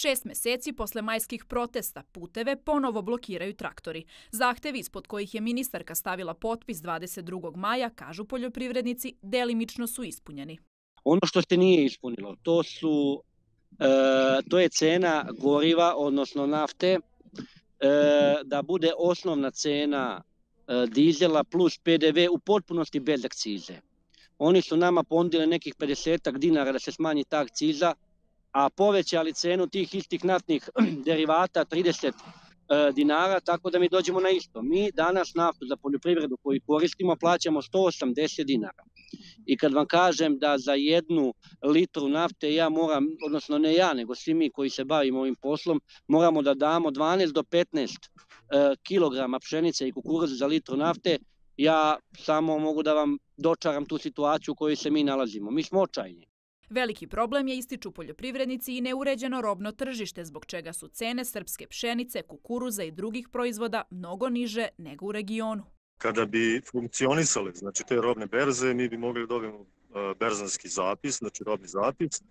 6 meseci posle majskih protesta puteve ponovo blokiraju traktori. Zahtevi ispod kojih je ministarka stavila potpis 22. maja, kažu poljoprivrednici, delimično su ispunjeni. Ono što se nije ispunilo, to je cena goriva, odnosno nafte, da bude osnovna cena dizela plus PDV u potpunosti bez akcize. Oni su nama ponudili nekih 50 dinara da se smanji ta akciza, a povećali cenu tih istih naftnih derivata 30 dinara, tako da mi dođemo na isto. Mi danas naftu za poljoprivredu koju koristimo plaćamo 180 dinara. I kad vam kažem da za 1 litru nafte ja moram, odnosno ne ja, nego svi mi koji se bavimo ovim poslom, moramo da damo 12 do 15 kilograma pšenice i kukuruza za litru nafte, ja samo mogu da vam dočaram tu situaciju u kojoj se mi nalazimo. Mi smo očajni. Veliki problem je, ističu poljoprivrednici, i neuređeno robno tržište, zbog čega su cene srpske pšenice, kukuruza i drugih proizvoda mnogo niže nego u regionu. Kada bi funkcionisale, znači te robne berze, mi bi mogli da dobijemo berzanski zapis, znači robni zapis,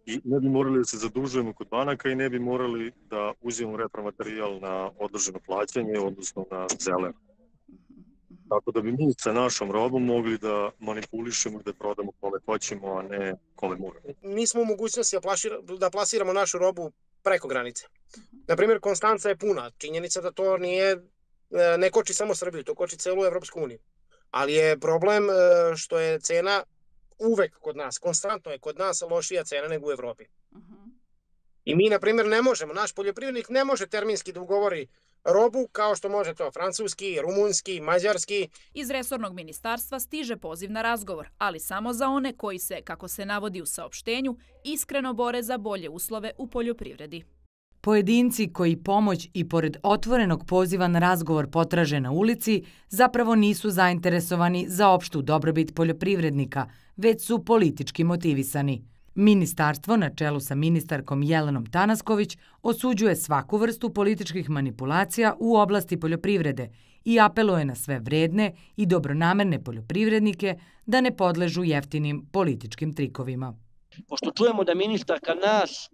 i ne bi morali da se zadužujemo kod banaka i ne bi morali da uzimamo repromaterijal na odloženo plaćanje, odnosno na zeler. Tako da bi mi sa našom robom mogli da manipulišemo i da prodamo kome hoćemo, a ne kome moramo. Nismo u mogućnosti da plasiramo našu robu preko granice. Naprimjer, Konstanca je puna. Činjenica da to ne koči samo Srbiju, to koči celu Evropsku uniju. Ali je problem što je cena uvek kod nas, konstantno je kod nas lošija cena nego u Evropi. I mi, na primjer, ne možemo, naš poljoprivrednik ne može terminski da ugovori robu kao što može to francuski, rumunski, mađarski. Iz resornog ministarstva stiže poziv na razgovor, ali samo za one koji se, kako se navodi u saopštenju, iskreno bore za bolje uslove u poljoprivredi. Pojedinci koji pomoć i pored otvorenog poziva na razgovor potraže na ulici zapravo nisu zainteresovani za opštu dobrobit poljoprivrednika, već su politički motivisani. Ministarstvo, na čelu sa ministarkom Jelenom Tanasković, osuđuje svaku vrstu političkih manipulacija u oblasti poljoprivrede i apeluje na sve vredne i dobronamerne poljoprivrednike da ne podležu jeftinim političkim trikovima. Pošto čujemo da ministarka nas,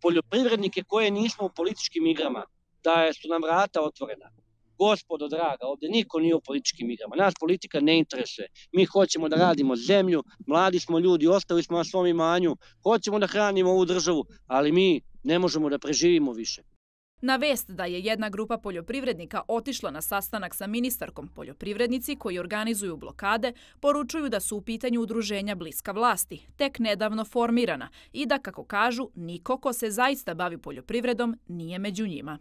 poljoprivrednike koje nismo u političkim igrama, da su nam vrata otvorena. Gospodo draga, ovdje niko nije u političkim igrama. Nas politika ne interesuje. Mi hoćemo da radimo zemlju, mladi smo ljudi, ostali smo na svom imanju, hoćemo da hranimo ovu državu, ali mi ne možemo da preživimo više. Na vest da je jedna grupa poljoprivrednika otišla na sastanak sa ministarkom, poljoprivrednici koji organizuju blokade poručuju da su u pitanju udruženja bliska vlasti, tek nedavno formirana, i da, kako kažu, niko ko se zaista bavi poljoprivredom nije među njima.